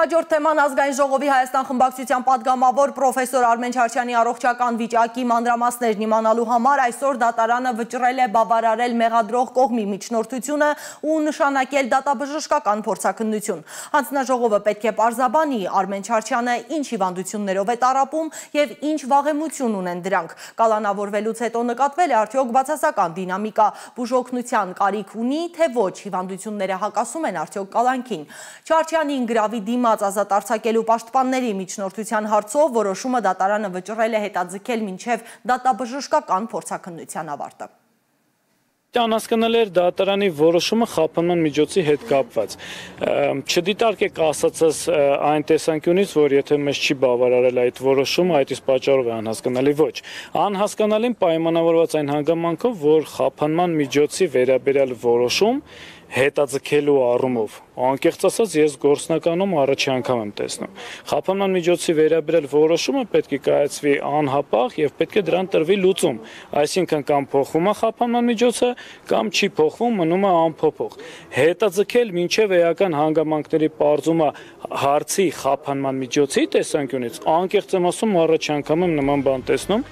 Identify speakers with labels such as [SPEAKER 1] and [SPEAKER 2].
[SPEAKER 1] Հաջորդ թեման ազգային ժողովի Հայաստան խմբակցության падգամավոր պրոֆեսոր Արմեն Չարչյանի առողջական վիճակի մանրամասներն իմանալու համար այսօր դատարանը վճռել է բավարարել մեղադրող կողմի միջնորդությունը ու նշանակել դատաբժշկական փորձաքննություն։ Հանձնաժողովը պետք է պարզաբանի Արմեն Չարչյանը ինչ հիվանդություններով է տառապում եւ ինչ վաղեմություն ունեն դրանք։ Կալանավորվելուց հետո նկատվել է արդյոք բացասական դինամիկա, բուժօգնության կարիք ունի, թե ոչ, հիվանդությունները հակասում են արդյոք կալանքին։ Չարչյանին գրավի դիմաց ազատ արձակելու պաշտպանների միջնորդության հարցով որոշումը դատարանը վճռել է հետաձգել մինչև դատաբժշկական փորձաքննության ավարտը։
[SPEAKER 2] Անհասկանալի էր դատարանի որոշումը խափանման միջոցի հետ կապված։ Չդիտարկեք ասածս այն տեսանկյունից, որ եթե մեզ չի բավարարել այդ որոշումը, այդ իսկ պատճառով է անհասկանալի, ոչ։ Անհասկանալին պայմանավորված այն հանգամանքով, որ խափանման միջոցի վերաբերյալ որոշում հետաձգելու առումով, անկեղծ ասած, ես գործնականում առաջի անգամ եմ տեսնում։ Խափանման միջոցի վերաբերյալ որոշումը պետք է կայացվի անհապաղ եւ պետք է դրան տրվի լուծում, այսինքն կամ փոխվում է խափանման միջոցը, կամ չի փոխվում, մնում է անփոփոխ։ Հետաձգել մինչև էական հանգամանքների պարզումը հարցի խափանման միջոցի տեսանկյունից, անկեղծ եմ ասում, առաջի անգամ եմ նման բան տեսնում։